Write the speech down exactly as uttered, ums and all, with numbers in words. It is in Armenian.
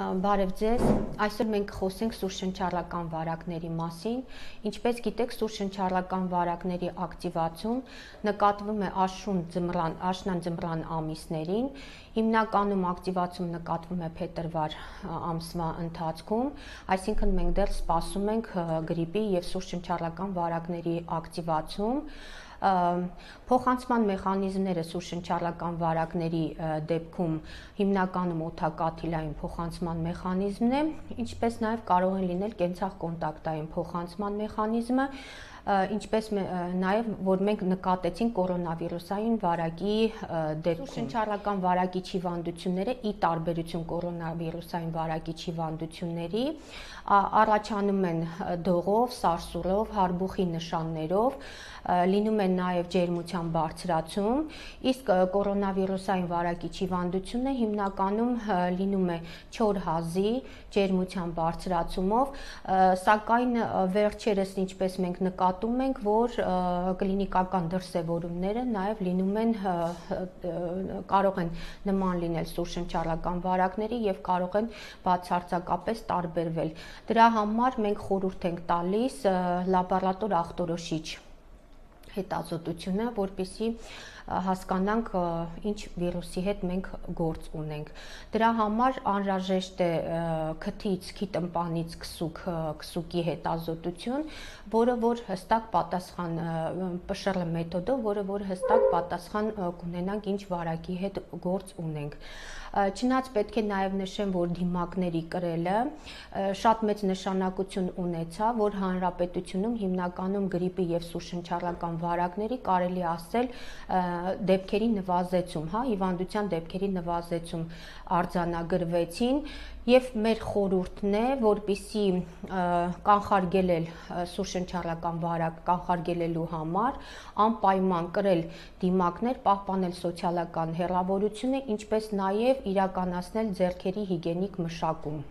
Բարև ձեզ, այսօր մենք խոսենք սուրշնչառական վարակների մասին։ Ինչպես գիտեք, սուրշնչառական վարակների ակտիվացում նկատվում է աշուն ձմռան, աշնան ձմռան ամիսներին։ Հիմնականում ակտիվացում նկատվում է փետրվար ամսվա ընթացքում, այսինքն մենք դեռ սպասում ենք գրիպի եւ սուրշնչառական վարակների ակտիվացում։ Փոխանցման մեխանիզմները սուրշնչառական վարակների դեպքում հիմնականում օդակաթիլային փոխանցման մեխանիզմն է, ինչպես նաև կարող են լինել կենցաղկոնտակտային փոխանցման մեխանիզմը, ինչպես նաև որ մենք նկատեցինք կորոնավիրուսային վարակի դեպքում։ Սուրշնչառական վարակի հիվանդությունները ի տարբերություն կորոնավիրուսային վարակի հիվանդությունների առաջանում են դողով, սարսուռով, հարբուխի նշաններով, լինում են նաև ջերմության բարձրացում, իսկ կորոնավիրուսային վարակի հիվանդությունը հիմնականում լինում է չոր հազի ջերմության բարձրացումով, սակայն վերջերս ինչպես մենք նկատում ենք, որ կլինիկական դրսևորումները նաև լինում են, կարող են նման լինել սուրշնչառական վարակների եւ կարող են բացարձակապես տարբերվել։ Դրա համար մենք խորհուրդ ենք տալիս լաբորատոր ախտորոշիչ հետազոտությունը, որպեսզի հասկանանք ինչ վիրուսի հետ մենք գործ ունենք։ Դրա համար անհրաժեշտ է քթից, քիթմպանից քսուկ, քսուկի հետազոտություն, որը որ հստակ պատասխան Պ Շ Ռ մեթոդով, որը որ հստակ պատասխան կունենանք ինչ վարակի հետ գործ ունենք։ Չնայած պետք է նաև նշեմ, որ դիմակների կրելը շատ մեծ նշանակություն ունեցավ, որ հանրապետությունում հիմնականում գրիպի եւ սուրշնչառական վարակների կարելի ասել դեպքերի նվազեցում, հա, հիվանդության դեպքերի նվազեցում արձանագրվեցին եւ մեր խորհուրդն է, որպեսզի կանխարգելել սուրշնչառական վարակ կանխարգելելու համար անպայման կրել դիմակներ, պահպանել սոցիալական հեռավորությունը, ինչպես նաև իրականացնել ձեռքերի հիգիենիկ մշակում։